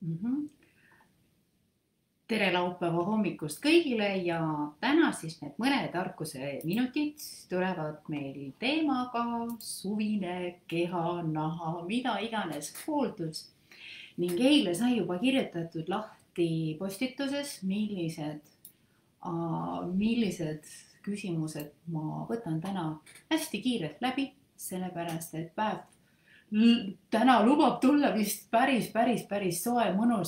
Mhm. Tere laupäeva hommikust kõigile ja täna siis need mõned tarkuse minutid tulevad meil teemaga suvine keha, naha, mida iganes hooldus. Ning eile sai juba kirjutatud lahti postituses, millised küsimused ma võtan täna hästi kiirelt läbi, sellepärast et päev täna lubab tulla vist päris soe, mõnus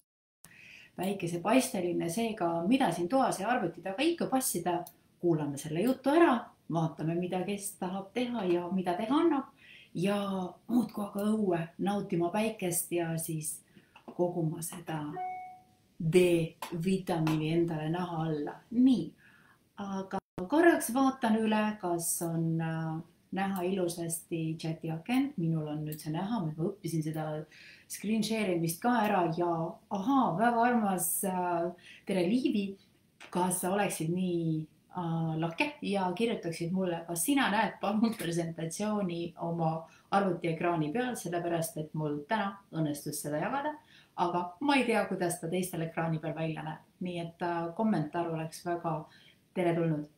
päikesepaisteline, seega mida siin toas ja arvuti taga ikka passida, kuulame selle jutu ära, vaatame, mida kes tahab teha ja mida teha annab ja muudkui aga õue nautima päikest ja siis koguma seda D-vitamiini endale naha alla. Nii, aga korraks vaatan üle, kas on näha ilusasti chati akent, minul on nüüd see näha, ma õppisin seda screen share imist ka ära ja ahaa, väga armas tere Liivi, kas sa oleksid nii lahke ja kirjutaksid mulle, kas sina näed palun presentatsiooni oma arvutiekraani peal, sellepärast et mul täna õnnestus seda jagada, aga ma ei tea, kuidas ta teistel ekraani peal välja näeb, nii et kommentaar oleks väga teretulnud.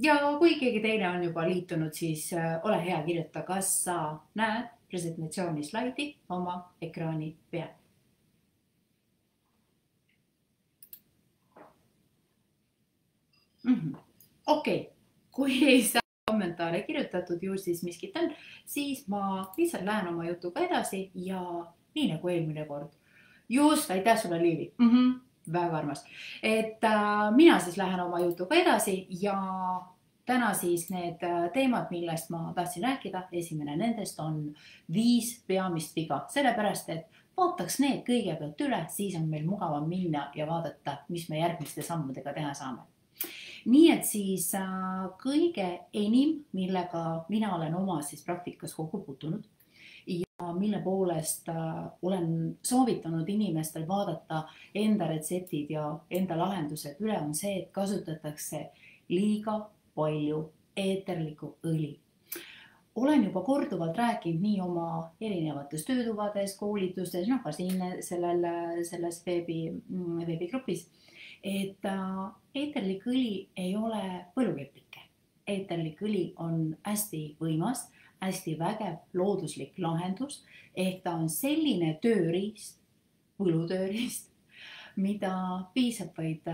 Ja kui keegi teine on juba liitunud, siis ole hea, kirjuta, kas sa näed presentatsiooni slaidi oma ekraani peal. Okei, kui ei saa kommentaare kirjutatud, ju siis miskit on, siis ma lihtsalt lähen oma jutuga edasi ja nii nagu eelmine kord. Just, aitäh sulle, Liivi. Väga armas. Et mina siis lähen oma jutuga edasi ja täna siis need teemad, millest ma tahtsin rääkida, esimene nendest on 5 peamist viga, sellepärast et vaataks need kõigepealt üle, siis on meil mugavam minna ja vaadata, mis me järgmiste sammudega teha saame. Nii et siis kõige enim, millega mina olen oma siis praktikas kokku puutunud ja mille poolest olen soovitanud inimestel vaadata enda retseptid ja enda lahendused üle, on see, et kasutatakse liiga palju eeterlikku õli. Olen juba korduvalt rääkinud nii oma erinevates töötubades, koolitustes, ka siin selles veebigrupis, et eeterlik õli ei ole põlukepike. Eeterlik õli on hästi võimas, hästi vägev looduslik lahendus, ehk ta on selline tööriist, põlutööriist, mida piisab vaid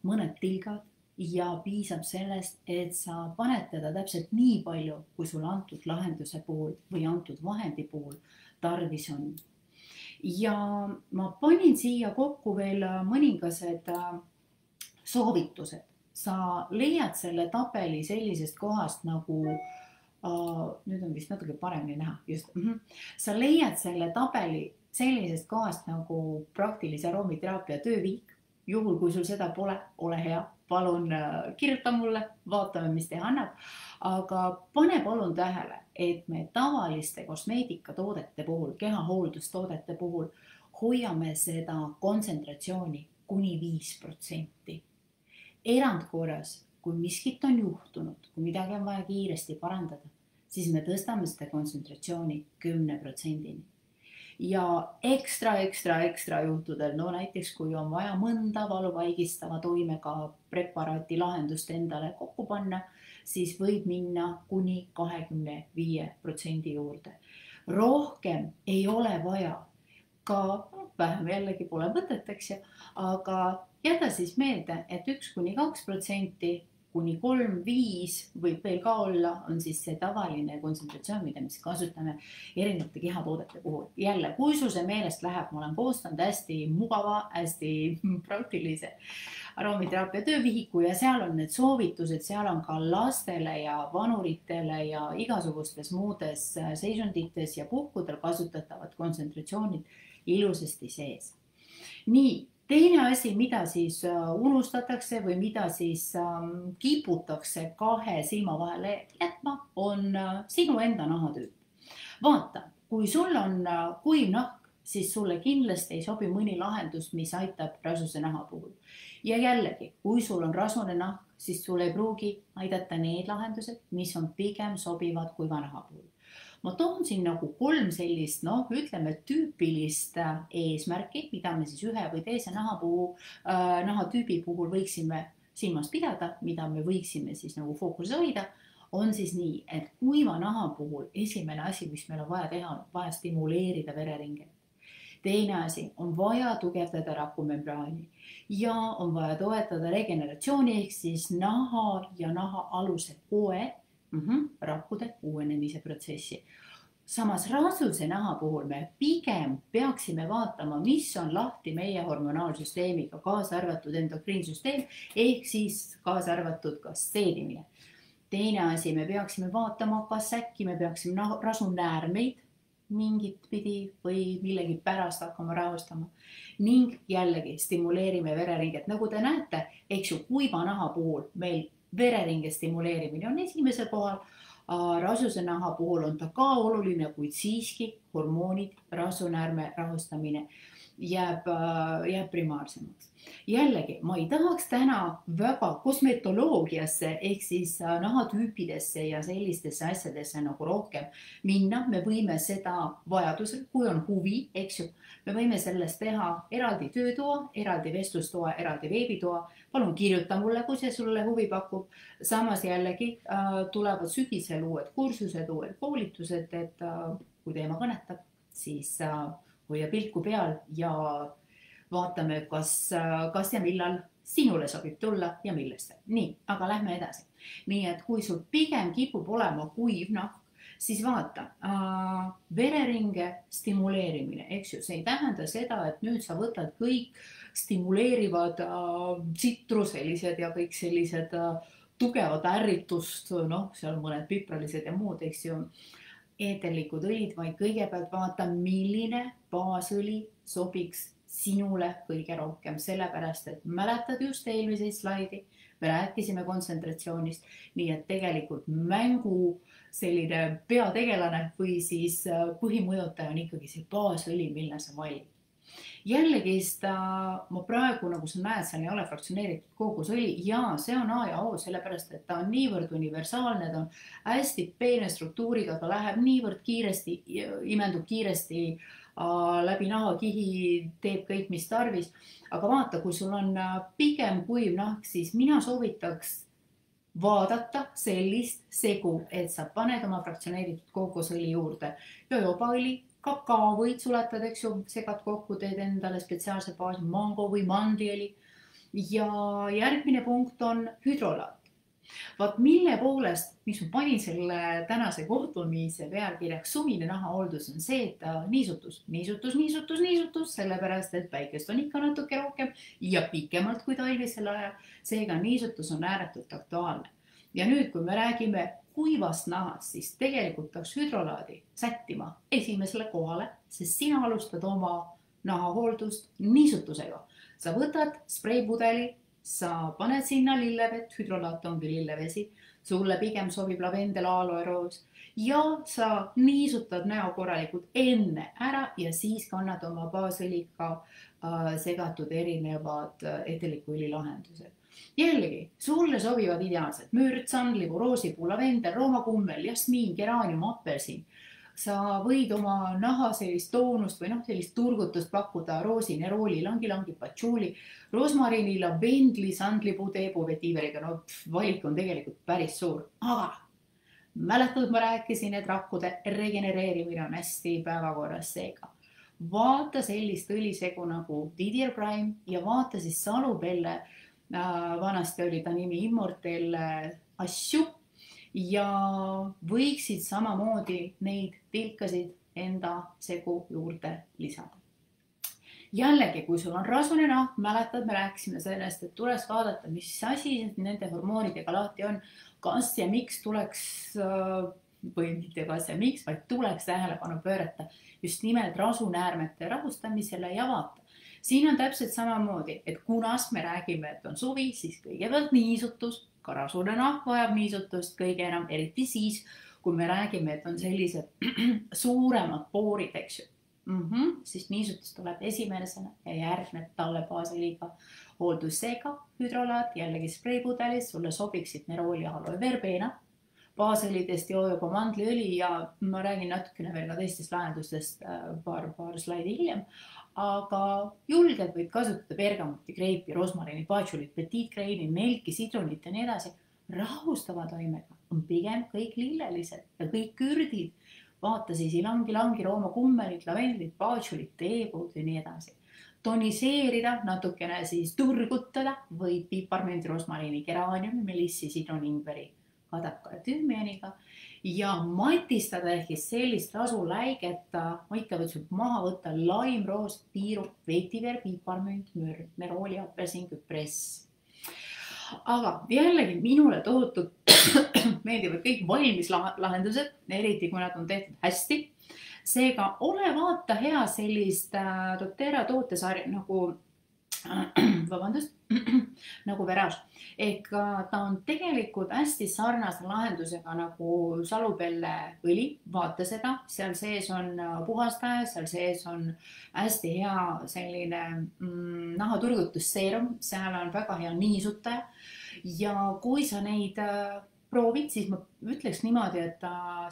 mõned tilgad ja piisab sellest, et sa paned teda täpselt nii palju, kui sul antud lahenduse puhul või antud vahendi puhul tarvis on. Ja ma panin siia kokku veel mõningased soovitused. Sa leiad selle tabeli sellisest kohast nagu, nüüd on vist natuke paremini näha, just. Sa leiad selle tabeli sellisest kohast nagu praktilise aromiteraapia tööviik. Juhul, kui sul seda pole, ole hea, palun kirjuta mulle, vaatame, mis teha annab. Aga pane palun tähele, et me tavaliste kosmeetikatoodete puhul, kehahooldustoodete puhul hoiame seda kontsentratsiooni kuni 5%. Erandkorras, kui miskit on juhtunud, kui midagi on vaja kiiresti parandada, siis me tõstame seda kontsentratsiooni 10%-ni. Ja ekstra juhtudel, no näiteks kui on vaja mõnda valuvaigistava toimega preparaati lahendust endale kokku panna, siis võib minna kuni 25% juurde. Rohkem ei ole vaja, ka vähem jällegi pole mõtet, eks ju, aga jäta siis meelde, et 1–2%, kuni 3–5 võib veel ka olla, on siis see tavaline kontsentratsioon, mida me kasutame erinevate kehatoodete puhul. Jälle, kui sul see meelest läheb, ma olen koostanud hästi mugava, hästi praktilise aromiteraapia töövihiku ja seal on need soovitused, seal on ka lastele ja vanuritele ja igasugustes muudes seisundites ja puhkudel kasutatavad kontsentratsioonid ilusasti sees. Nii, teine asi, mida siis unustatakse või mida siis kiputakse 2 silma vahele jätma, on sinu enda nahatüüp. Vaata, kui sul on kuiv nahk, siis sulle kindlasti ei sobi mõni lahendus, mis aitab rasuse naha puhul. Ja jällegi, kui sul on rasune nahk, siis sul ei pruugi aidata need lahendused, mis on pigem sobivad kuiva naha puhul. ma toon siin nagu 3 sellist, ütleme tüüpilist eesmärki, mida me siis ühe või teise nahatüübi puhul võiksime silmas pidada, mida me võiksime siis nagu fookuses hoida, on siis nii, et kuiva naha puhul esimene asi, mis meil on vaja teha, on vaja stimuleerida vereringet. Teine asi on vaja tugevdada rakumembraani ja on vaja toetada regeneratsiooni ehk siis naha ja nahaaluse koe rakkude uuenemise protsessi. Samas rasuse naha puhul me pigem peaksime vaatama, mis on lahti meie hormonaalsüsteemiga, kaasa arvatud endokriinsüsteem ehk siis kaasa arvatud ka seedimine. Teine asi, me peaksime vaatama, kas äkki me peaksime rasunäärmeid mingit pidi või millegi pärast hakkama rahustama ning jällegi stimuleerime vereringet. Nagu te näete, eks ju, kuiva naha puhul meil vereringe stimuleerimine on esimesel kohal, rasuse naha puhul on ta ka oluline, kuid siiski hormoonid, rasunäärme rahustamine jääb primaarsemaks. Jällegi, ma ei tahaks täna väga kosmetoloogiasse ehk siis nahatüüpidesse ja sellistesse asjadesse nagu rohkem minna. Me võime seda vajadusel, kui on huvi, eks ju, me võime sellest teha eraldi töötoa, eraldi vestlustoa, eraldi veebitoa. Palun kirjuta mulle, kui see sulle huvi pakub. Samas jällegi tulevad sügisel uued kursused, uued koolitused, et kui teema kõnetab, siis hoia pilku peal ja vaatame, kas ja millal sinule sobib tulla ja millesse. Nii, aga lähme edasi. Nii, et kui sul pigem kipub olema kuiv nahk, siis vaata, vereringe stimuleerimine, eks ju, see ei tähenda seda, et nüüd sa võtad kõik stimuleerivad tsitruselised ja kõik sellised tugevad ärritust, seal mõned pipralised ja muud, eks ju, eeterlikud õlid, vaid kõigepealt vaata, milline baasõli sobiks sinule kõige rohkem, sellepärast, et mäletad just eelmiseid slaidi, me rääkisime kontsentratsioonist, nii et tegelikult mängu selline peategelane või siis põhimõjutaja on ikkagi see baasõli, mille sa valid. Jällegi ma praegu, nagu sa näed, seal ei ole fraktsioneeritud kookosõli ja see on A ja O, sellepärast, et ta on niivõrd universaalne, ta on hästi peene struktuuriga, ta läheb niivõrd kiiresti, imendub kiiresti läbi nahakihi, teeb kõik, mis tarvis. Aga vaata, kui sul on pigem kuiv nahk, siis mina soovitaks vaadata sellist segu, et sa paned oma fraktsioneeritud kookosõli juurde jojobaõli, kakao võid suletada, eks ju, segad kokku, teed endale spetsiaalse baasi, mango või mandiõli. Ja järgmine punkt on hüdrolaat. Vaat mille poolest, mis ma panin selle tänase kohtumise pealkirjaks suvine nahahooldus on see, et niisutus, sellepärast, et päikest on ikka natuke rohkem ja pikemalt kui talvisel ajal. Seega niisutus on ääretult aktuaalne. Ja nüüd, kui me räägime kuivast nahast, siis tegelikult peaks hüdrolaadi sättima esimesele kohale, sest sina alustad oma nahahooldust niisutusega. Sa võtad spreipudeli, sa paned sinna lillevett, hüdrolaat ongi lillevesi, sulle pigem sobib lavendel, aloe roos ja sa niisutad näo korralikult enne ära ja siis kannad oma baasõliga segatud erinevad eterliku-õli lahendused. Jällegi, sulle sobivad ideaalselt mürd, sandlipu, roosipuu, lavendel, roomakummel, jasmiin, geraanium, apelsin. Sa võid oma naha sellist toonust või sellist turgutust pakkuda roosi, nerooli, langi, patšuuli, rosmarini, lavendli, sandlipu, teebu, vetiiveriga. Valik on tegelikult päris suur. Aga mäletad, ma rääkisin, et rakkude regenereerimine on hästi päevakorras seega. Vaata sellist õlisegu nagu Didier Prime ja vaata siis Salubelle, vanasti oli ta nimi Immortel asju ja võiksid samamoodi neid tilkasid enda segu juurde lisada. Jällegi, kui sul on rasune nahk, mäletad, me rääkisime sellest, et tuleks vaadata, mis asi nende hormoonidega lahti on, kas ja miks tuleks, või mitte kas ja miks, vaid tuleks tähelepanu pöörata just nimelt rasunäärmete rahustamisele ja vaata. Siin on täpselt samamoodi, et kunas me räägime, et on suvi, siis kõigepealt niisutus, ka rasune nahk vajab niisutust kõige enam, eriti siis, kui me räägime, et on sellised suuremad poorid, eks ju. Siis niisutus tuleb esimesena ja järgneb talle baasõliga hooldusseega, hüdrolaat, jällegi spreipudelis, sulle sobiksid nerooli, aloe verbena, baasõlidest joo juba mandliõli ja ma räägin natukene veel ka teistest lahendustest paar slaidi hiljem. Aga julgelt võid kasutada bergamotti, kreipi, rosmarini, patšulit, petit kreini, melki, sidrunit ja nii edasi. Rahustava toimega on pigem kõik lillelised ja kõik kürdid. Vaata siis ilangi, rooma kummelit, lavendlit, patšulit, teepuud ja nii edasi. Toniseerida, natukene siis turgutada võid piparmündi, rosmarini, geraaniumi, melissi, sidruni, ingveri, kadaka ja tümmianiga. Ja matistada ehk sellist rasuläiget, ma ikka võtsin maha võtta laimroos, piirup, vetiver, piparmünd, mürd, nerooli, apelsin, küpress. Aga jällegi minule tohutult meeldivad kõik valmis lahendused, eriti kui nad on tehtud hästi. Seega ole vaata hea sellist doTERRA tootesarja nagu Verage. Ehk ta on tegelikult hästi sarnase lahendusega nagu salupelle õli, vaata seda, seal sees on puhastaja, seal sees on hästi hea selline nahaturgutusseerum, seal on väga hea niisutaja ja kui sa neid proovid, siis ma ütleks niimoodi, et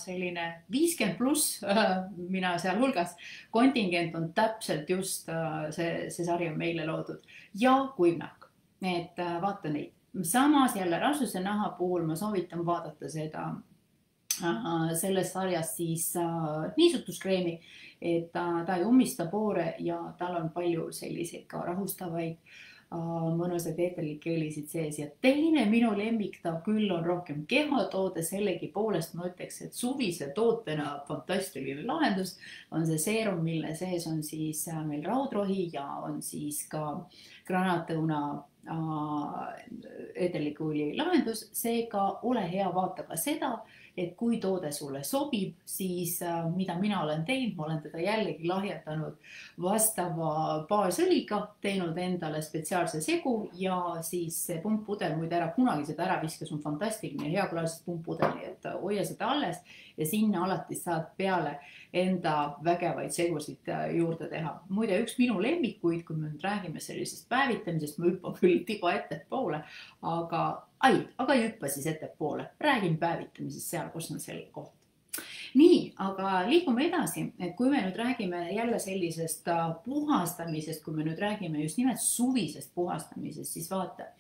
selline 50+, mina seal hulgas, kontingent on täpselt just see sari on meile loodud ja kuivnahk, et vaata neid. Samas jälle rasvuse naha puhul ma soovitan vaadata seda selles sarjas siis niisutuskreemi, et ta ei ummista poore ja tal on palju selliseid ka rahustavaid mõnusad eeterlikke õlisid sees ja teine minu lemmik ta küll on rohkem kehatoode, sellegi poolest ma ütleks, et suvise tootena fantastiline lahendus on see seerum, mille sees on siis meil raudrohi ja on siis ka granaatõuna eeterliku õli lahendus, seega ole hea, vaata ka seda, et kui toode sulle sobib, siis mida mina olen teinud, ma olen teda jällegi lahjatanud vastava baasõliga, teinud endale spetsiaalse segu ja siis see pumppudel, muide ära kunagi seda ära viska, see on fantastiline, hea klaasist pumppudeli, et hoia seda alles ja sinna alati saad peale enda vägevaid segusid juurde teha. Muide, üks minu lemmikuid, kui me nüüd räägime sellisest päevitamisest, ma hüppan küll tiba ettepoole, aga ei hüppa siis ettepoole. Räägin päevitamisest seal, kus on selle koht. Nii, aga liigume edasi, et kui me nüüd räägime jälle sellisest puhastamisest, kui me nüüd räägime just nimelt suvisest puhastamisest, siis vaata,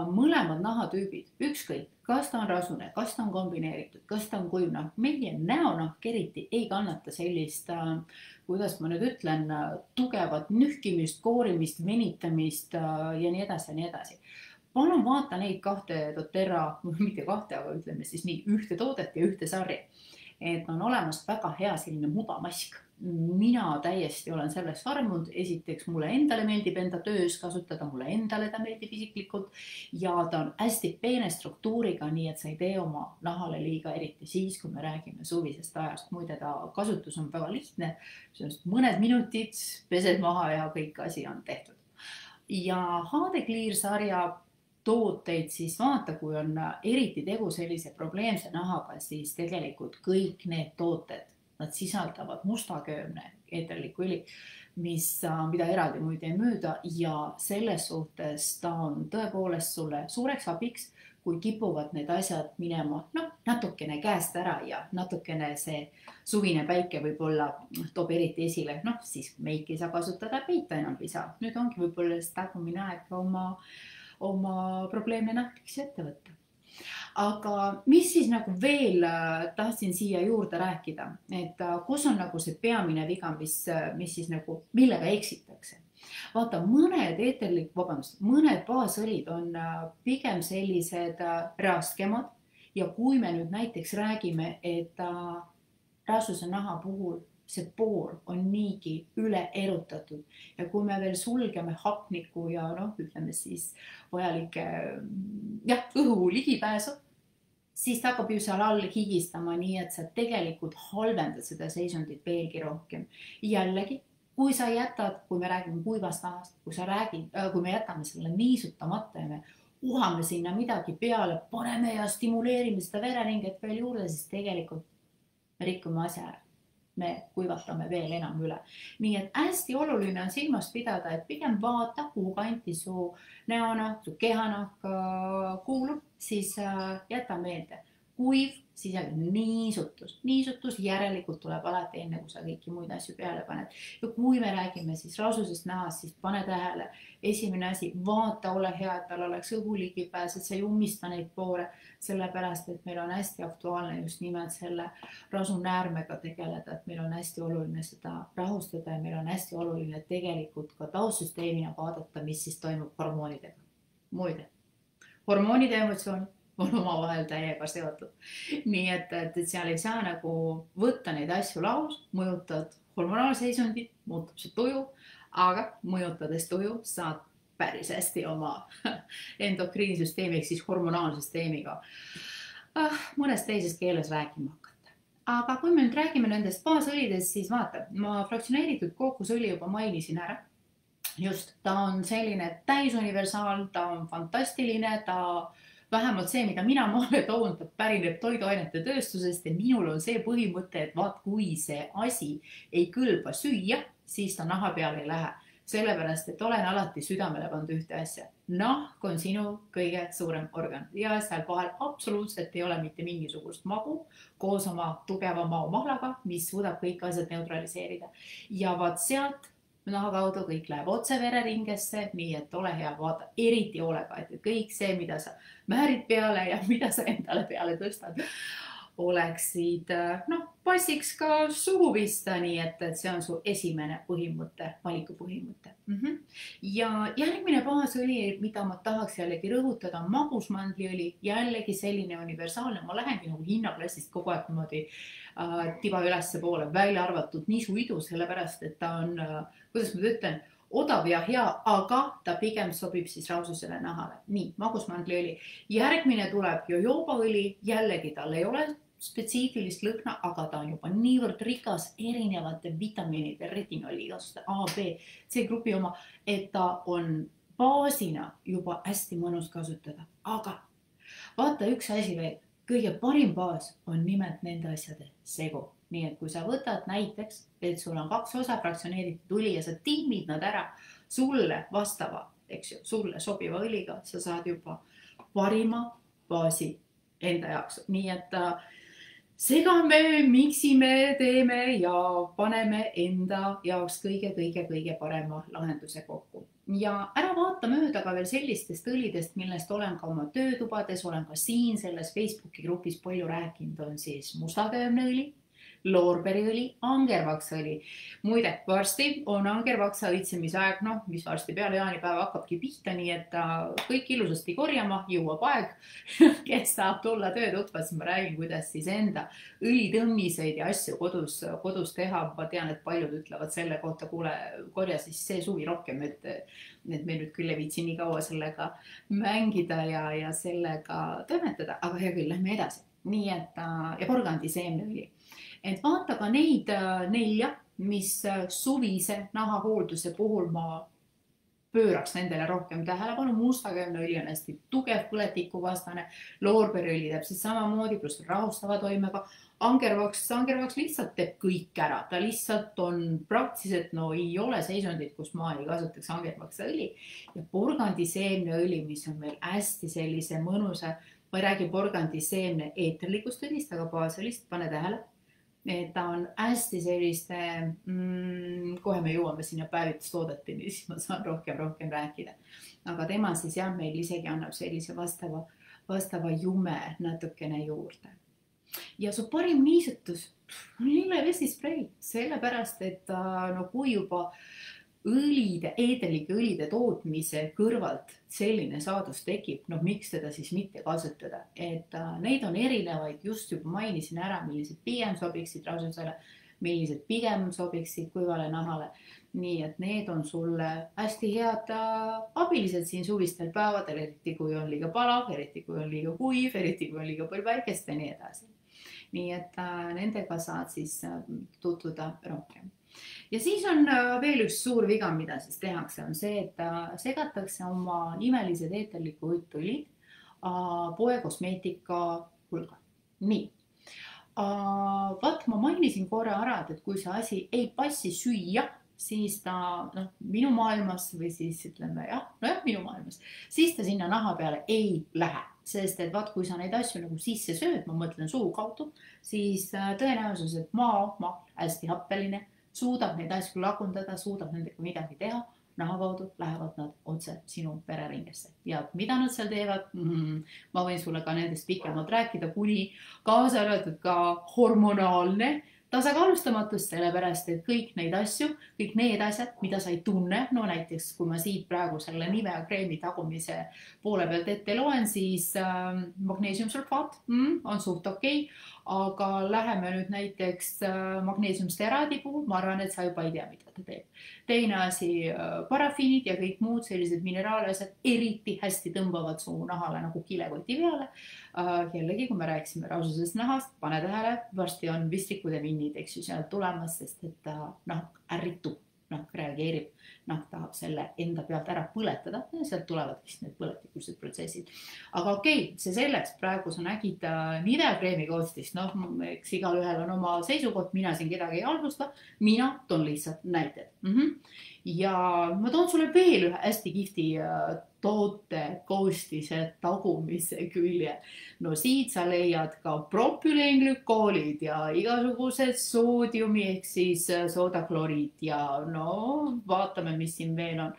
mõlemad nahatüübid, ükskõik, kas ta on rasune, kas ta on kombineeritud, kas ta on kuivnahk, meie näonahk eriti ei kannata sellist, kuidas ma nüüd ütlen, tugevat nühkimist, koorimist, venitamist ja nii edasi ja nii edasi. Palun vaata neid kahte doTERRA, mitte kahte, aga ütleme siis nii ühte toodet ja ühte sarja. Et on olemas väga hea selline mudamask. Mina täiesti olen sellest armunud. Esiteks mulle endale meeldib enda töös kasutada, mulle endale ta meeldib isiklikult ja ta on hästi peene struktuuriga, nii et sa ei tee oma nahale liiga, eriti siis, kui me räägime suvisest ajast. Muide, ta kasutus on väga lihtne. Mõned minutid pesed maha ja kõik asi on tehtud. Ja HD Clear sarja tooteid, siis vaata, kui on eriti tegu sellise probleemse nahaga, siis tegelikult kõik need tooted, nad sisaldavad mustaköömne eeterlikku õli, mida eraldi muide ei müüda ja selles suhtes ta on tõepoolest sulle suureks abiks, kui kipuvad need asjad minema natukene käest ära ja natukene see suvine päike võib-olla toob eriti esile, siis meiki ei saa kasutada, peita enam ei saa. Nüüd ongi võib-olla tagumine aeg oma probleeme nahkliks ette võtta. Aga mis siis nagu veel tahtsin siia juurde rääkida, et kus on nagu see peamine viga, mis siis nagu, millega eksitakse. Vaata, mõned baasõlid on pigem sellised raskemad ja kui me nüüd näiteks räägime, et rasvuse naha puhul see poor on niigi üle erutatud ja kui me veel sulgeme hapniku ja ütleme siis vajalike õhu ligipääsu, siis ta hakkab ju seal all higistama, nii et sa tegelikult halvendad seda seisundit veelgi rohkem. Jällegi, kui sa jätad, kui me räägime kuivast nahast, kui me jätame selle niisutamata ja me uhame sinna midagi peale, paneme ja stimuleerime seda vereringet veel juurde, siis tegelikult me rikume asja ära. Me kuivatame veel enam üle. Nii et hästi oluline on silmas pidada, et pigem vaata, kuhu kanti su näonahk, su kehanahk kuulub, siis jäta meelde. kuiv, siis niisutus järelikult tuleb alati enne, kui sa kõiki muid asju peale paned. Ja kui me räägime siis rasusest nahast, siis pane tähele, esimene asi, vaata, ole hea, et tal oleks õhuligipääs, et sa ei ummista neid poore, sellepärast, et meil on hästi aktuaalne just nimelt selle rasunäärmega tegeleda, et meil on hästi oluline seda rahustada ja meil on hästi oluline tegelikult ka taustsüsteemina vaadata, mis siis toimub hormoonidega. Muide, hormoonide emotsioon on omavahel täiega seotud. Nii et seal ei saa nagu võtta neid asju laus, mõjutad hormonaalseisundit, muutub see tuju, aga mõjutades tuju saad päris hästi oma endokriinsüsteemi ehk siis hormonaalsüsteemiga mõnes teises keeles rääkima hakata. Aga kui me nüüd räägime nendest baasõlidest, siis vaata, ma fraktsioneeritud kookosõli juba mainisin ära. Just, ta on selline täisuniversaal, ta on fantastiline, ta vähemalt see, mida mina maale toon, ta pärineb toiduainete tööstusest ja minul on see põhimõte, et vaat kui see asi ei kõlba süüa, siis ta naha peale ei lähe. Sellepärast, et olen alati südamele pannud ühte asja. Nahk on sinu kõige suurem organ ja seal vahel absoluutselt ei ole mitte mingisugust magu koos oma tugeva maomahlaga, mis suudab kõik asjad neutraliseerida. Ja vaat sealt naha kaudu kõik läheb otse vereringesse, nii et ole hea, vaata eriti hoolega, et kõik see, mida sa määrid peale ja mida sa endale peale tõstad, oleksid, passiks ka suhu pista, nii et see on su esimene põhimõte, valikupõhimõte. Ja järgmine baasõli, mida ma tahaks jällegi rõhutada, on magusmandliõli, jällegi selline universaalne, ma lähengi nagu hinnaklassist kogu aeg niimoodi tiba ülesse poole, välja arvatud nisuidu, sellepärast, et ta on, kuidas ma ütlen, odav ja hea, aga ta pigem sobib siis raususele nahale. Nii, magusmandliõli. Järgmine tuleb jojobaõli, jällegi tal ei ole spetsiifilist lõhna, aga ta on juba niivõrd rikas erinevate vitamiinide, retinoliidast, A, B, C grupi oma, et ta on baasina juba hästi mõnus kasutada. Aga vaata üks asi veel, kõige parim baas on nimelt nende asjade segu. Nii et kui sa võtad näiteks, et sul on 2 osa fraktsioneeritud õli ja sa timmid nad ära sulle vastava, eks ju, sulle sobiva õliga, sa saad juba parima baasi enda jaoks. Nii et segame, miksime, teeme ja paneme enda jaoks kõige parema lahenduse kokku. Ja ära vaata mööda ka veel sellistest õlidest, millest olen ka oma töötubades, olen ka siin selles Facebooki grupis palju rääkinud, on siis mustaköömneõli, loorberiõli, angervaksõli. Muide, varsti on angervaksa õitsemise aeg, mis varsti peale jaanipäeva hakkabki pihta, nii et kõik ilusasti korjama, jõuab aeg, kes saab tulla töötuppa, siis ma räägin, kuidas siis enda õlitõmmiseid ja asju kodus teha. Ma tean, et paljud ütlevad selle kohta, kuule, korja siis see suvi rohkem, et me nüüd küll ei viitsi nii kaua sellega mängida ja sellega toimetada, aga hea küll, lähme edasi. Nii et, ja porgandiseemneõli. Et vaata ka neid 4, mis suvise nahahoolduse puhul ma pööraks nendele rohkem tähelepanu. Mustaköömneõli on hästi tugev põletikuvastane, loorberiõli täpselt samamoodi, pluss rahustava toimega. Angervaks lihtsalt teeb kõik ära, ta lihtsalt on praktiliselt, ei ole seisundit, kus ma ei kasutaks angervaksõli. Ja porgandiseemneõli, mis on meil hästi sellise mõnusa, ma ei räägi porgandiseemne eeterlikust õlist, aga baasõlist, pane tähele. Ta on hästi selliste, kohe me jõuame sinna päevitustoodeteni, siis ma saan rohkem rääkida. Aga tema siis meil isegi annab sellise vastava jume natukene juurde. Ja su parim niisutus on lillevesisprei, sellepärast, et kui juba eeterlike õlide tootmise kõrvalt selline saadus tekib, miks teda siis mitte kasutada. Et neid on erinevaid, just juba mainisin ära, millised pigem sobiksid rasusele, millised pigem sobiksid kuivale nahale. Nii et need on sulle hästi head abilised siin suvistel päevadel, eriti kui on liiga palav, eriti kui on liiga kuiv, eriti kui on liiga palju päikest ja nii edasi. Nii et nendega saad siis tutvuda rohkem. Ja siis on veel üks suur viga, mida siis tehakse, on see, et segatakse oma imelised eeterliku õlid poekosmeetika hulga. Nii. Vaat ma mainisin korra ära, et kui see asi ei passi süüa, siis ta minu maailmas või siis ütleme minu maailmas, siis ta sinna naha peale ei lähe. Sest et vaat, kui sa neid asju nagu sisse sööd, ma mõtlen suu kaudu, siis tõenäosus, et maa hästi happeline, suudab neid asju lagundada, suudab nendega midagi teha, naha kaudu lähevad nad otse sinu vereringesse. Ja mida nad seal teevad? Ma võin sulle ka nendest pikemalt rääkida, kuni kaasa arvatud ka hormonaalne tasakaalustamatus, sellepärast, et kõik neid asju, kõik need asjad, mida sa ei tunne, no näiteks, kui ma siit praegu selle Nivea kreemi tagumise poole pealt ette loen, siis magneesiumsulfaat on suht okei, aga läheme nüüd näiteks magneesiumsteraadi puhul, ma arvan, et sa juba ei tea, mida ta teeb. Teine asi, parafiinid ja kõik muud sellised mineraalasjad eriti hästi tõmbavad su nahale nagu kilekoti peale. Jällegi, kui me rääkisime raususest nahast, pane tähele, varsti on vistlikud ja minnid, eks ju, sealt tulemas, sest et ta ärritub, reageerib, tahab selle enda pealt ära põletada ja sealt tulevad vist need põletikulised protsessid. Aga okei, see selleks, praegu sa nägid Nivea kreemi koostist, eks igal ühel on oma seisukoht, mina siin kedagi ei halvusta, mina toon lihtsalt näited. Ja ma toon sulle veel ühe hästi kihvti toote koostise tagumise külje. No siit sa leiad ka propüleenglükoolid ja igasugused soodiumi ehk siis soodakloriid ja vaatame, mis siin veel on.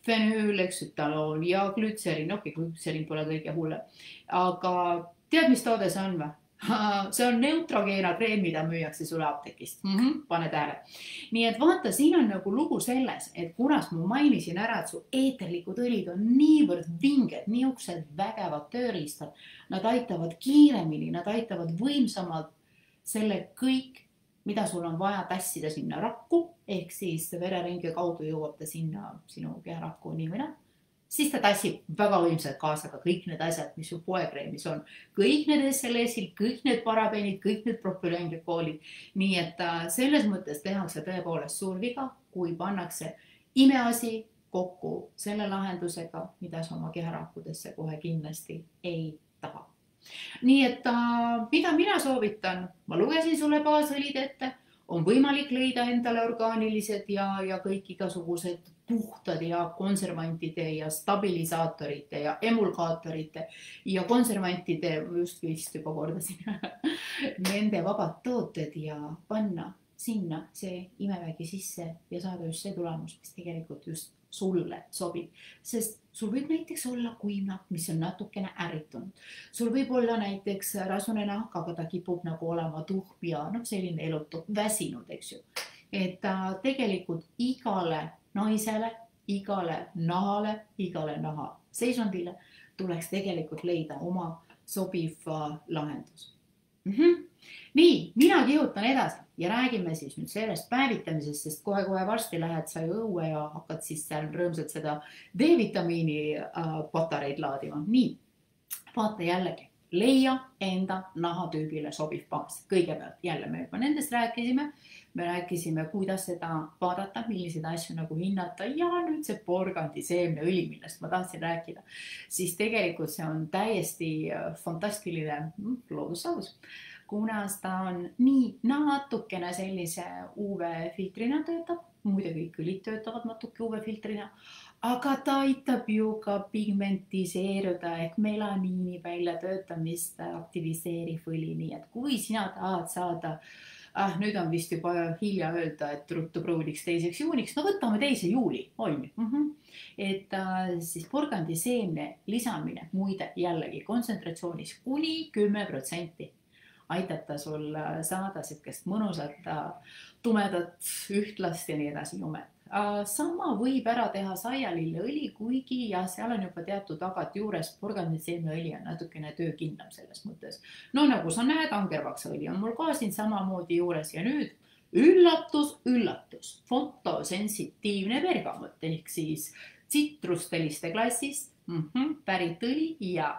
Fenüüleksytaloon ja glütserin, glütserin pole kõige hullem. Aga tead, mis toode see on või? See on Neutrogena kreem, mida müüakse sulle apteekist. Pane tähele. Nii et vaata, siin on nagu lugu selles, et kunas ma mainisin ära, et su eeterlikud õlid on niivõrd vinged, niisugused vägevad tööriistad. Nad aitavad kiiremini, nad aitavad võimsamalt selle kõik, mida sul on vaja tassida sinna rakku, ehk siis vereringe kaudu jõuab ta sinna sinu keharakku nii või naa. Siis ta tassib väga võimsalt kaasa ka kõik need asjad, mis su poekreemis on. Kõik need SLS-id, kõik need parabeenid, kõik need propüleenglükoolid. Nii et selles mõttes tehakse tõepoolest suur viga, kui pannakse imeasi kokku selle lahendusega, mida sa oma keharakkudesse kohe kindlasti ei taha. Nii et mida mina soovitan, ma lugesin sulle baasõlid ette, on võimalik leida endale orgaanilised ja kõik igasugused puhtad ja konservantide ja stabilisaatorite ja emulgaatorite ja konservantide, just vist juba kordasin, nende vabad tooted ja panna sinna see imevägi sisse ja saada just see tulemus, mis tegelikult just sulle sobib. Sest sul võib näiteks olla kuivnahk, mis on natukene ärritunud. Sul võib olla näiteks rasune nahk, aga ta kipub nagu olema tuhm ja selline elutu, väsinud, eks ju. Et tegelikult igale naisele, igale naha seisundile tuleks tegelikult leida oma sobiv lahendus. Nii, mina kihutan edasi ja räägime siis nüüd sellest päevitamisest, sest kohe varsti lähed sa ju õue ja hakkad siis seal rõõmsalt seda D-vitamiini patareid laadima. Nii, vaata jällegi, leia enda nahatüübile sobiv baas. Kõigepealt jälle me juba nendest rääkisime. Me rääkisime, kuidas seda vaadata, milliseid asju nagu hinnata ja nüüd see porgandiseemneõli, millest ma tahtsin rääkida. Siis tegelikult see on täiesti fantastiline loodussaadus, kuna ta on nii natukene sellise UV-filtrina töötab, muide kõik õlid töötavad natuke UV-filtrina, aga ta aitab ju ka pigmentiseeruda ehk melaniini väljatöötamist aktiviseeriv õli, nii et kui sina tahad saada nüüd on vist juba hilja öelda, et ruttu pruuliks 2. juuniks. No võtame 2. juuli, on ju. Et siis porgandiseemne lisamine, muide jällegi kontsentраtsioonis kuni 10% aitab ta sul saada sellist mõnusat, tumedat, ühtlast ja nii edasi jumet. Sama võib ära teha saialilleõli, kuigi ja seal on juba teatud tagat juures, porgandiseemneõli on natukene töökindlam selles mõttes. No nagu sa näed, angervaksaõli on mul ka siin samamoodi juures ja nüüd üllatus, fotosensitiivne bergamot ehk siis tsitrusteliste klassist pärit õli ja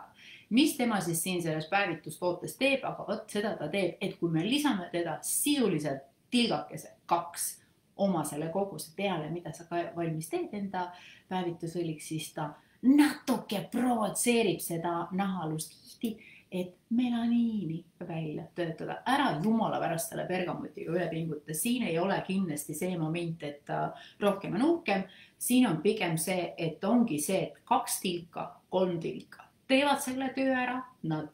mis tema siis siin selles päevitustootes teeb, aga vot seda ta teeb, et kui me lisame teda sisuliselt tilgakese 2 oma selle koguse peale, mida sa ka valmis teed enda päevitusõliks, siis ta natuke provotseerib seda nahalust et melaniini välja töötada. Ära jumala pärast selle bergamutiga üle pinguta. Siin ei ole kindlasti see moment, et rohkem on uhkem. Siin on pigem see, et ongi see, et 2 tilka, 3 tilka teevad selle töö ära. Nad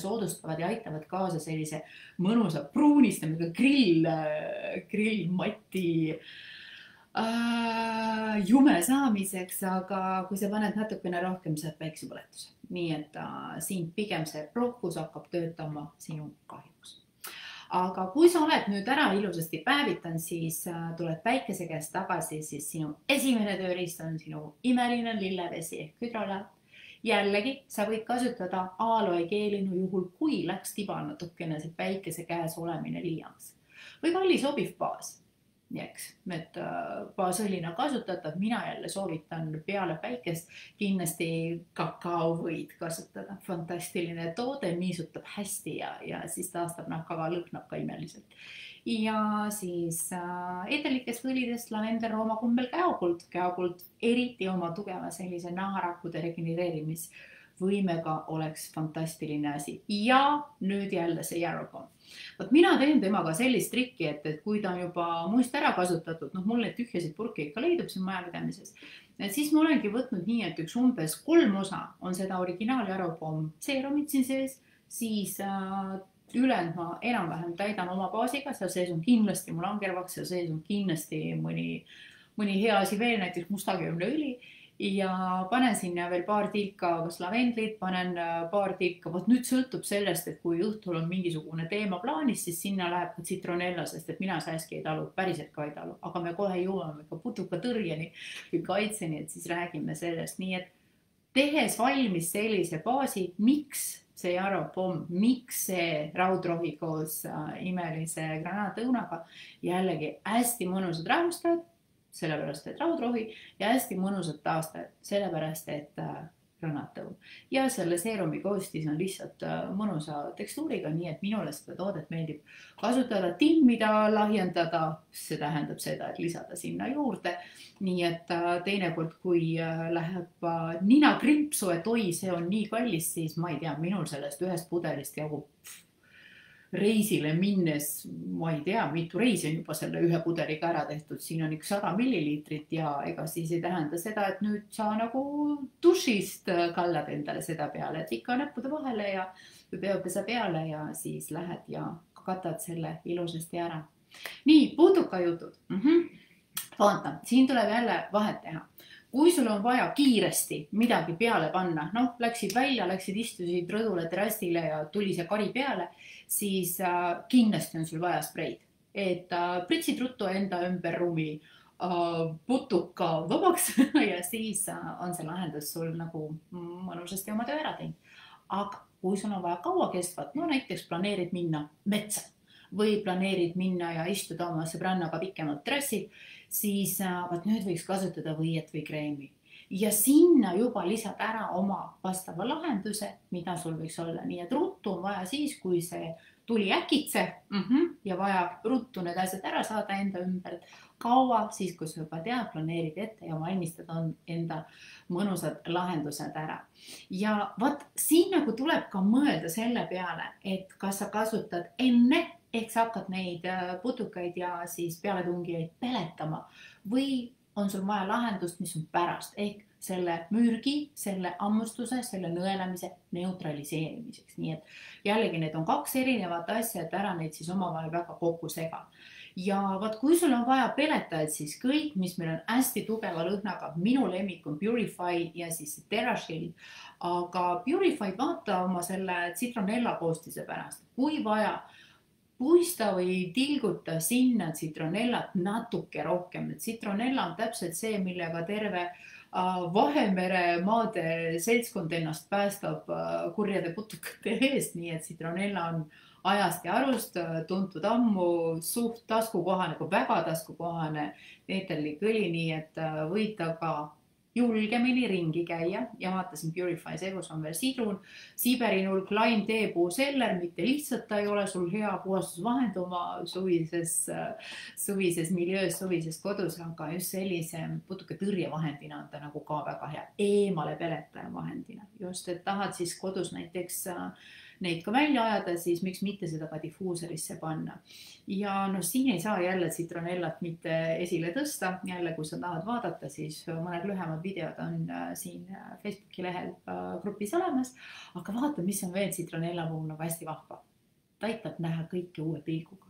soodustavad ja aitavad kaasa sellise mõnusa pruunistamisega grillmati jume saamiseks, aga kui sa paned natukene rohkem, saad päiksepõletuse. Nii et siin pigem see rohkus hakkab töötama sinu kahjuks. Aga kui sa oled nüüd ära ilusasti päevitan, siis tuled päikese käest tagasi, siis sinu esimene tööriist on sinu imeline lillevesi ehk hüdrolaat. Jällegi, sa võid kasutada aloe geelinu juhul, kui läks tiba natukene see päikese käes olemine liiaks. Või valli sobiv baas. Et baasõlina kasutatav, mina jälle soovitan peale päikest kindlasti kakao võid kasutada. Fantastiline toode, niisutab hästi ja siis taastab nahkaga, lõhnab ka imeliselt. Ja siis edelikest võlidest lavendel, roomakumbel, käokuld. Käokuld eriti oma tugeva sellise naharakkude regenereerimisvõimega oleks fantastiline asi. Ja nüüd jälle see Yarrow. Mina teen temaga sellist trikki, et kui ta on juba muist ära kasutatud, mul neid tühjasid purke ikka leidub siin majapidamises, siis ma olengi võtnud nii, et üks umbes 3 osa on seda originaal Yarrow seerumit siin sees, siis ülejäänud ma enam-vähem täidan oma baasiga, seal sees on kindlasti mul angervaks, seal sees on kindlasti mõni hea asi veel, näiteks mustakeemneõli. Ja panen sinna veel paar tilka kas lavendlit, panen paar tilka, nüüd sõltub sellest, et kui õhtul on mingisugune teema plaanis, siis sinna läheb ka citronella, sest et mina sääski ei talu, päriselt ka ei talu, aga me kohe jõuame ka putukatõrjeni või kaitseni, et siis räägime sellest. Nii et tehes valmis sellise baasi, miks see Yarrow pomm, miks see raudrohi koos imelise granaatõunaga, jällegi hästi mõnusad rahustajad, sellepärast, et raudrohi ja hästi mõnusad taastajad, sellepärast, et granaatõun. Ja selle seerumi koostis on lihtsalt mõnusa tekstuuriga, nii et minule seda toodet meeldib kasutada, timmida, lahjendada, see tähendab seda, et lisada sinna juurde. Nii et teinekord, kui läheb nina krimpsu, et oi, see on nii kallis, siis ma ei tea, minul sellest ühest pudelist jagub reisile minnes, ma ei tea, mitu reisi on juba selle ühe pudeliga ära tehtud, siin on 100 milliliitrit ja ega siis ei tähenda seda, et nüüd sa nagu dušist kallad endale seda peale, et ikka näppude vahele ja peopesa peale ja siis lähed ja katad selle ilusasti ära. Nii, putukajutud. Vaata, siin tuleb jälle vahet teha. Kui sul on vaja kiiresti midagi peale panna, läksid välja, istusid rõdule, terrassile ja tuli see kari peale, siis kindlasti on sul vaja spreid. Et pritsid ruttu enda ümber ruumi putuka vabaks ja siis on see lahendus sul nagu mõnusasti oma töö ära teinud. Aga kui sul on vaja kaua kestvat, näiteks planeerid minna metsa või planeerid minna ja istuda oma sõbrannaga pikemalt terrassil, siis nüüd võiks kasutada võiet või kreemi. Ja sinna juba lisad ära oma vastava lahenduse, mida sul võiks olla. Nii et ruttu on vaja siis, kui see tuli äkitse ja vaja ruttu need asjad ära saada enda ümber. Kaua siis, kui sa juba tead, planeerid ette ja valmistad enda mõnusad lahendused ära. Ja siin nagu tuleb ka mõelda selle peale, et kas sa kasutad enne, ehk sa hakkad neid putukaid ja siis pealetungijaid peletama või on sul vaja lahendust, mis on pärast, ehk selle mürgi, selle ammustuse, selle nõelamise neutraliseerimiseks. Nii et jällegi need on 2 erinevat asja, et ära neid siis omavahel väga kokku sega. Ja kui sul on vaja peletajaid, siis kõik, mis meil on hästi tugeva lõhnaga, minu lemmik on Purify ja siis TerraShield, aga Purify vaata oma selle citronella koostise pärast, kui vaja, puista või tilguta sinna citronellat natuke rohkem. Citronella on täpselt see, millega terve Vahemere maade seltskond ennast päästab kurjade putukate eest, nii et citronella on ajast ja arust tuntud ammu, suht taskukohane, väga taskukohane eeterlik õli, nii et võid aga julgemini ringi käia ja vaatasin Purify Segus on veel sidrun, Siberinulk, laim, teepuu, seller, mitte lihtsalt ta ei ole sul hea puhastusvahend oma suvises miljöös, suvises kodus, aga just sellise putuka tõrjevahendina on ta nagu ka väga hea eemale peletaja vahendina. Just, et tahad siis kodus näiteks neid ka välja ajada, siis miks mitte seda ka difuuserisse panna. Ja no siin ei saa jälle Citronellat mitte esile tõsta. Jälle, kui sa tahad vaadata, siis mõned lühemad videod on siin Facebooki lehel grupis olemas. Aga vaata, mis on veel Citronella puhul nagu hästi vahva. Ta aitab näha kõike uue pilguga.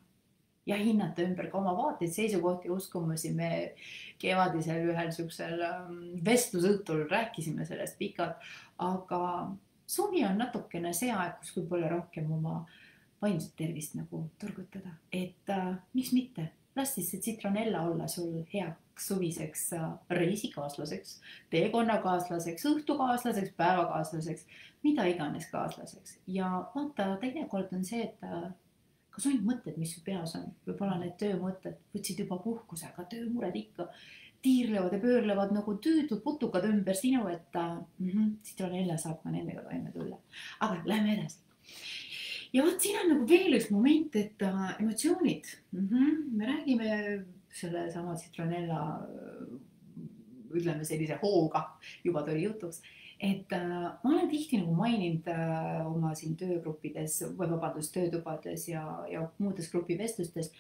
Ja hinnata ümber ka oma vaateid, seisukohti, uskumusi. Me kevadisel ühel siuksel vestlusõhtul rääkisime sellest pikalt, aga suvi on natukene see aeg, kus võib-olla rohkem oma vaimset tervist nagu turgutada. Et miks mitte? Las siis see Citronella olla sul heaks suviseks reisikaaslaseks, teekonnakaaslaseks, õhtukaaslaseks, päevakaaslaseks, mida iganes kaaslaseks. Ja vaata, teinekord on see, et ka sundmõtted, mis su peas on, võib-olla need töömõtted võtsid juba puhkuse, aga töömured ikka tiirlevad ja pöörlevad nagu tüütud putukad ümber sinu, et Citronella saab ka nendega toime tulla. Aga lähme edasi. Ja vaat siin on nagu veel üks moment, et emotsioonid. Me räägime selle sama Citronella, ütleme sellise hooga, juba tuli jutuks, et ma olen tihti nagu maininud oma siin töögruppides, või vabandust, töötubades ja muudes grupivestlustes,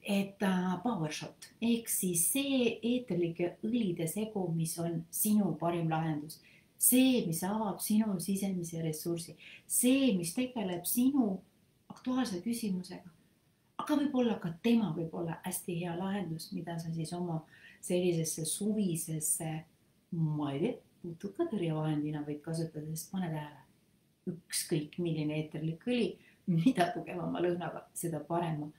et PowerShot ehk siis see eeterlike õlide segu, mis on sinu parim lahendus. See, mis avab sinu sisemise ressursi. See, mis tegeleb sinu aktuaalse küsimusega. Aga võib-olla ka tema võib olla hästi hea lahendus, mida sa siis oma sellisesse suvisesse, ma ei tea, putukatõrjevahendina võid kasutada, sest pane tähele. Ükskõik milline eeterlik õli, mida tugevama lõhnaga, seda parema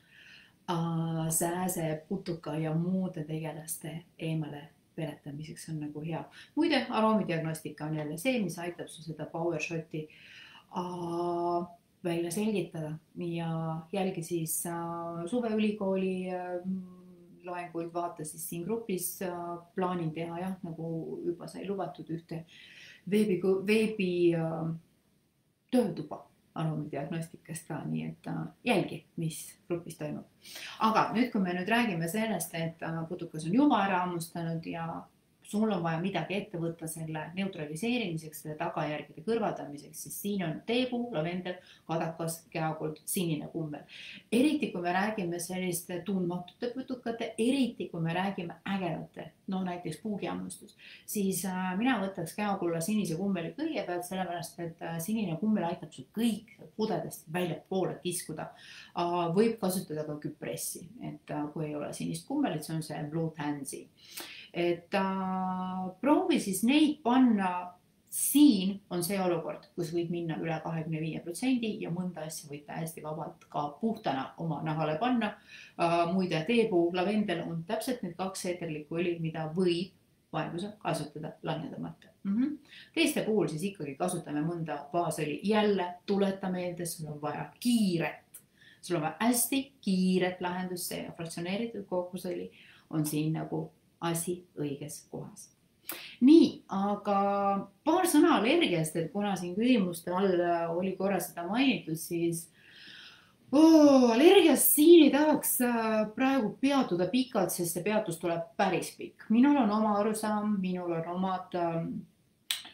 sääse, putuka ja muude tegelaste eemale peletamiseks on nagu hea. Muide, aroomidiagnostika on jälle see, mis aitab su seda PowerShoti välja selgitada ja jälgi siis suveülikooli loenguid, vaata siis siin grupis plaanin teha jah, nagu juba sai lubatud ühte veebi töötuba aroomidiagnostikast ka, nii et jälgi, mis grupis toimub. Aga nüüd, kui me nüüd räägime sellest, et putukas on juba ära hammustanud ja sul on vaja midagi ette võtta selle neutraliseerimiseks, selle tagajärgede kõrvaldamiseks, siis siin on teepuu, lavendel, kadakas, käokuld, sinine kummel. Eriti, kui me räägime selliste tundmatute putukate, eriti, kui me räägime ägedate, no näiteks puugihammustus, siis mina võtaks käokulla sinise kummeli kõigepealt, sellepärast, et sinine kummel aitab sul kõik pudedest välja poole kiskuda. Võib kasutada ka küpressi, et kui ei ole sinist kummelit, see on see Blue Tansy. Et proovi siis neid panna, siin on see olukord, kus võid minna üle 25% ja mõnda asja võid hästi vabalt ka puhtana oma nahale panna. Muide, teepuu, lavendel on täpselt need 2 eeterlikku õli, mida võib vajadusel kasutada laiendamata. Teiste puhul siis ikkagi kasutame mõnda baasõli. Jälle tuleta meelde, sul on vaja kiiret. Sul on vaja hästi kiiret lahendust, see fraktsioneeritud kookosõli on siin nagu asi õiges kohas. Nii, aga paar sõna allergiast, et kuna siin küsimuste all oli korra seda mainitud, siis allergiast siin ei tahaks praegu peatuda pikalt, sest see peatus tuleb päris pikk. Minul on oma arusaam, minul on omad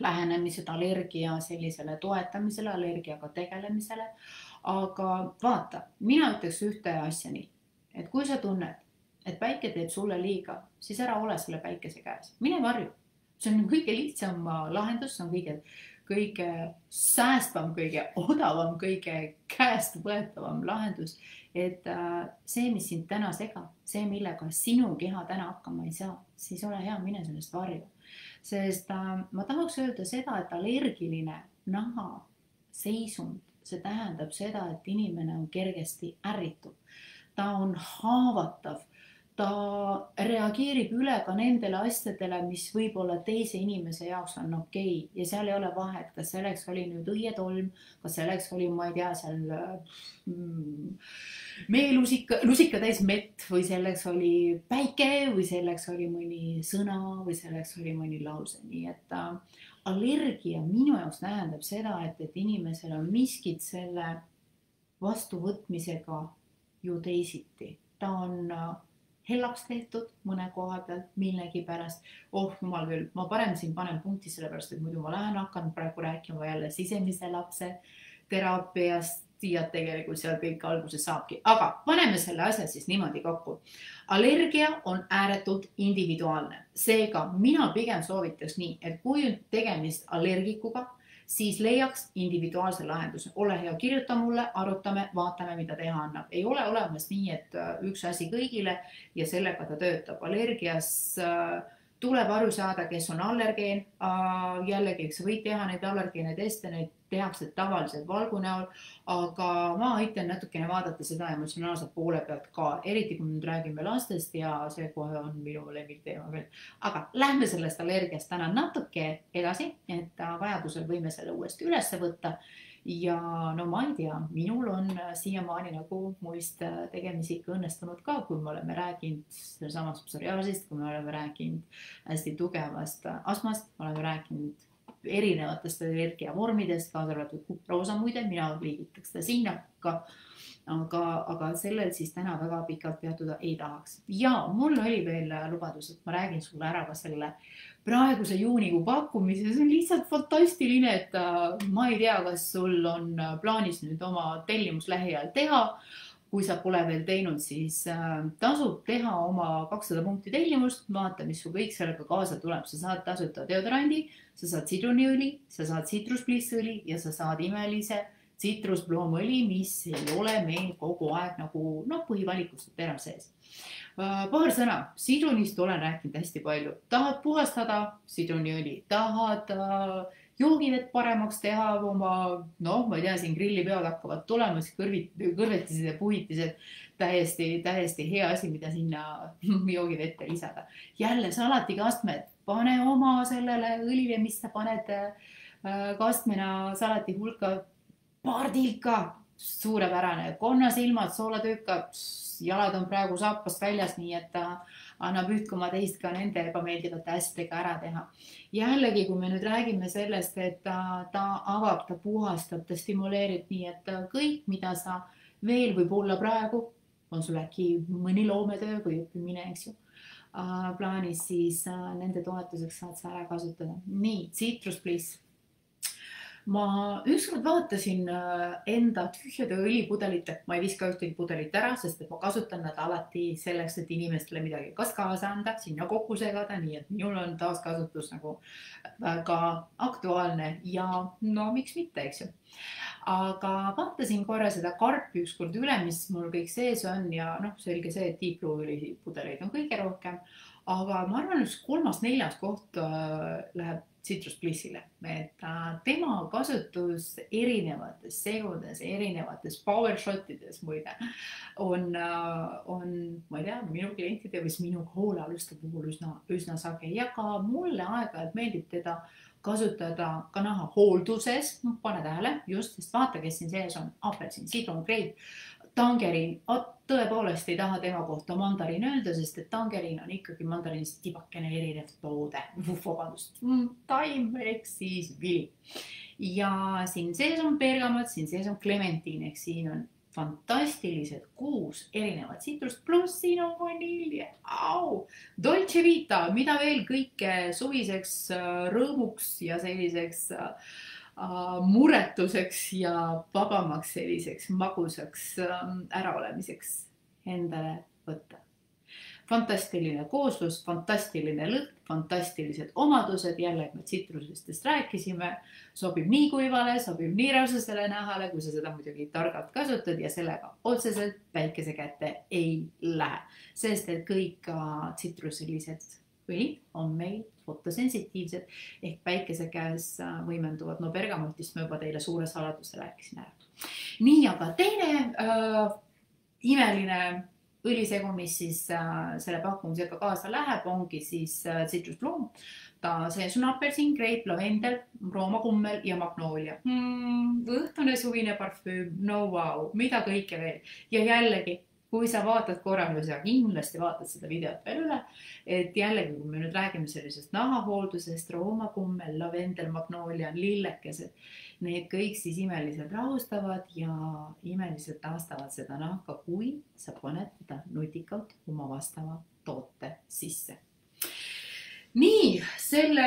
lähenemised allergia sellisele toetamisele, allergiaga tegelemisele, aga vaata, mina ütleks ühte asja nii, et kui sa tunned, et päike teeb sulle liiga, siis ära ole selle päikese käes. Mine varju. See on kõige lihtsam lahendus, see on kõige säästvam, kõige odavam, kõige käest võetavam lahendus. Et see, mis sind täna segab, see, millega sinu keha täna hakkama ei saa, siis ole hea, mine sellest varju. Sest ma tahaks öelda seda, et allergiline naha seisund, see tähendab seda, et inimene on kergesti ärritud. Ta on haavatav. ta reageerib üle ka nendele asjadele, mis võib-olla teise inimese jaoks on okei. Ja seal ei ole vahet, kas selleks oli nüüd õietolm, kas selleks oli, ma ei tea, seal lusika täis mett või selleks oli päike või selleks oli mõni sõna või selleks oli mõni lause. Nii et allergia minu jaoks tähendab seda, et inimesel on miskit selle vastuvõtmisega ju teisiti. Ta on hellaks tehtud mõne koha pealt millegi pärast. Jumal küll, ma parem siin panen punkti sellepärast, et muidu ma hakkan praegu rääkima jälle sisemise lapse teraapiast ja tegelikult seal kõik alguses saabki. Aga paneme selle asja siis niimoodi kokku. Allergia on ääretult individuaalne. Seega mina pigem soovitaks nii, et kui on tegemist allergikuga, siis leiaks individuaalse lahenduse. Ole hea, kirjuta mulle, arutame, vaatame, mida teha annab. Ei ole olemas nii, et üks asi kõigile ja sellega ta töötab. Allergias tuleb aru saada, kes on allergeen. Jällegi, sa võid teha neid allergeene teste, neid tehakse tavaliselt valgu näol, aga ma aitan natukene vaadata seda emotsionaalse poole pealt ka, eriti kui nüüd räägime lastest ja see kohe on minu lemmikteema veel. Aga lähme sellest allergiast täna natuke edasi, et vajadusel võime selle uuesti üles võtta. Ja no ma ei tea, minul on siiamaani nagu muist tegemisi ikka õnnestunud ka, kui me oleme rääkinud samast psoriaasist, kui me oleme rääkinud hästi tugevast astmast, oleme rääkinud erinevatest allergiavormidest, kaasa arvatud kuproosa muide, mina liigitaks seda sinna ka, aga sellel siis täna väga pikalt peatuda ei tahaks. Ja mul oli veel lubadus, et ma räägin sulle ära ka selle praeguse juunikuu pakkumise. See on lihtsalt fantastiline, et ma ei tea, kas sul on plaanis nüüd oma tellimus lähiajal teha. Kui sa pole veel teinud, siis tasub teha oma 200 punkti tellimust, vaata, mis su kõik sellega kaasa tuleb. Sa saad tasuta deodorandi, sa saad sidruniõli, sa saad citrusblissõli ja sa saad imelise citrusbloomõli, mis ei ole meil kogu aeg nagu põhivalikust terав sees. Paar sõna, sidrunist olen rääkinud hästi palju. Tahad puhastada sidruniõli, tahad joogivett paremaks teha oma, ma ei tea, siin grillipeod hakkavad tulema, siis kõrvetised ja puhitised, täiesti hea asi, mida sinna joogivette lisada. Jälle salatikastmed, pane oma sellele õlile, mis sa paned kastmena salati hulka, pardilka, suurepärane, konnasilmad, soolatüüka, jalad on praegu saapast väljas, nii et annab üht koma teist ka nende ebameeldivate asjadega ära teha. Jällegi, kui me nüüd räägime sellest, et ta avab, ta puhastab, ta stimuleerib nii, et kõik, mida sa veel võib olla praegu, on sul äkki mõni loometöö või õppimine, eks ju, plaanis, siis nende toetuseks saad sa ära kasutada. Nii, Citrus Bliss. Ma ükskord vaatasin enda tühjade õlipudelite, ma ei viska ühtegi pudelit ära, sest et ma kasutan nad alati selleks, et inimestele midagi kas kaasa anda, sinna kokku segada, nii et minul on taaskasutus nagu väga aktuaalne ja miks mitte, eks ju. Aga vaatasin korra seda karpi ükskord üle, mis mul kõik sees on ja selge see, et tiipluu pudeleid on kõige rohkem, aga ma arvan, üks 3.-4. koht läheb Citrus Blissile, et tema kasutus erinevates segudes, erinevates power shotides muide on, ma ei tea, minu klientide või minu hoolealuste puhul üsna sage ja ka mulle aeg-ajalt meeldib teda kasutada ka naha hoolduses, pane tähele, just, sest vaata, kes siin sees on, apelsin, sidrun, greip, tangeriin, tõepoolest ei taha tema kohta mandariin öelda, sest et tangeriin on ikkagi mandariinist tibakene erinev toode, vabandust, taim ehk siis vili. Ja siin sees on bergamot, siin sees on klementiin, ehk siin on fantastilised 6 erinevat sitrust, pluss siin on vanilje, Dolce Vita, mida veel kõike suviseks rõõmuks ja selliseks muretuseks ja vabamaks selliseks magusaks äraolemiseks endale võtta. Fantastiline kooslus, fantastiline lõhn, fantastilised omadused, jälle me tsitrusestest rääkisime, sobib nii kuivale, sobib nii rasvasele nahale, kui sa seda muidugi targalt kasutad ja sellega otseselt päikese kätte ei lähe, sest et kõik tsitruselised õlid on meil fotosensitiivsed ehk päikese käes võimenduvad. Bergamotist ma juba teile suure saladuse rääkisin ära. Nii, aga teine imeline õlisegu, mis siis selle pakkumisega kaasa läheb, ongi siis tsitrusbloom. See on apelsin, greip, lavendel, roomakummel ja magnoolia. Õhtune suvine parfüüm, no vau, mida kõike veel. Ja jällegi, kui sa vaatad korra, sa kindlasti vaatad seda videot veel üle, et jällegi, kui me nüüd räägime sellisest nahahooldusest, roomakummel, lavendel, magnoolia, lillekesed, need kõik siis imeliselt rahustavad ja imeliselt taastavad seda nahka, kui sa paned teda nutikalt oma vastava toote sisse. Nii, selle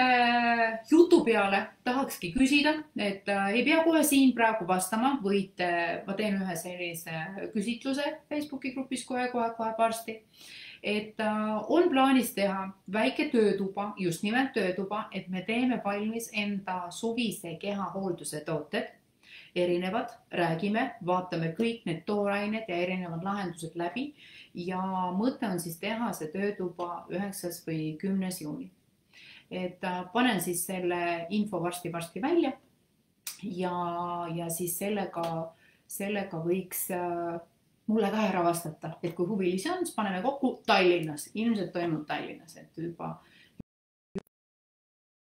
jutu peale tahakski küsida, et ei pea kohe siin praegu vastama, võite, ma teen ühe sellise küsitluse Facebooki grupis kohe varsti, et on plaanis teha väike töötuba, just nimelt töötuba, et me teeme valmis enda suvise kehahoolduse tooted, erinevad, räägime, vaatame kõik need toorained ja erinevad lahendused läbi ja mõte on siis teha see töötuba 9. või 10. juuni. Et panen siis selle info varsti välja ja siis sellega võiks mulle ka ära vastata, et kui huvilisi on, siis paneme kokku Tallinnas, ilmselt toimub Tallinnas, et juba